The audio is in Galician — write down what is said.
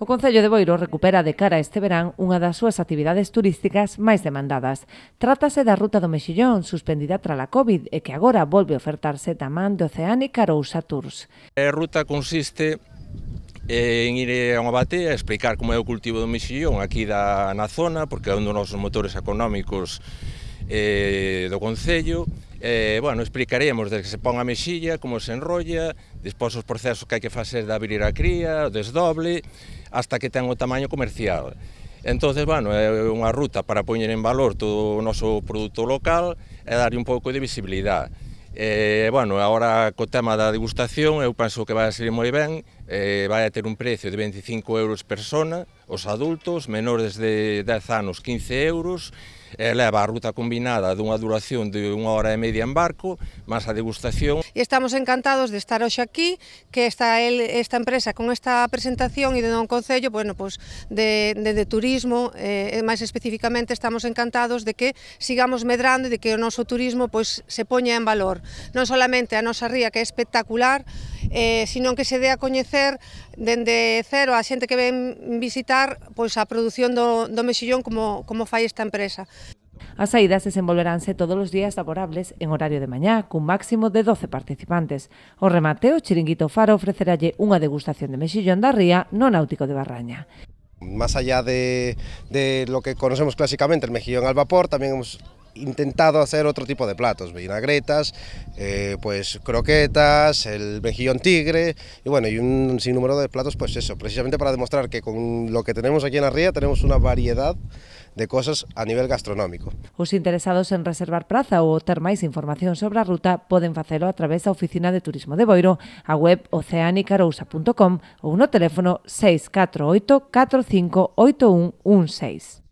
O Concello de Boiro recupera de cara a este verán unha das súas actividades turísticas máis demandadas. Trátase da Ruta do Mexillón, suspendida trala COVID e que agora volve a ofertarse tamén de Oceánica Arousa Tours. A ruta consiste en ir a unha batea, explicar como é o cultivo do mexillón aquí na zona, porque é un dos nosos motores económicos do Concello. Bueno, explicaremos desde que se pon a mexilla, como se enrolla, despois os procesos que hai que facer de abrir a cría, o desdoble, hasta que ten o tamaño comercial. Entonces, bueno, é unha ruta para poñer en valor todo o noso produto local e darlle un pouco de visibilidade. Bueno, agora co tema da degustación eu penso que vai a ser moi ben, vai a ter un precio de 25 euros persona, os adultos, menores de 10 anos 15 euros, leva a ruta combinada dunha duración de 1 hora e media en barco, máis a degustación. E estamos encantados de estar hoxe aquí, que esta empresa con esta presentación e de un concello, bueno, pues de turismo, máis especificamente estamos encantados de que sigamos medrando e de que o noso turismo pues se poña en valor. Non solamente a nosa ría, que é espectacular, sino que se dé a coñecer dende cero a xente que ven visitar pois a produción do mexillón como fai esta empresa. As saídas desenvolveránse todos os días laborables en horario de mañá, cun máximo de 12 participantes. O remate, o Chiringuito Faro ofreceralle unha degustación de mexillón da ría no Náutico de Barraña. Más allá de lo que conocemos clásicamente, el mejillón al vapor, también hemos intentado hacer otro tipo de platos, vinagretas, pues croquetas, el mejillón tigre y bueno, y un sinnúmero de platos, pues eso, precisamente para demostrar que con lo que tenemos aquí en la ría tenemos una variedad de cosas a nivel gastronómico. Os interesados en reservar praza ou ter máis información sobre a ruta poden facelo a través da Oficina de Turismo de Boiro, a web oceanicarousa.com ou no teléfono 648 45 8116.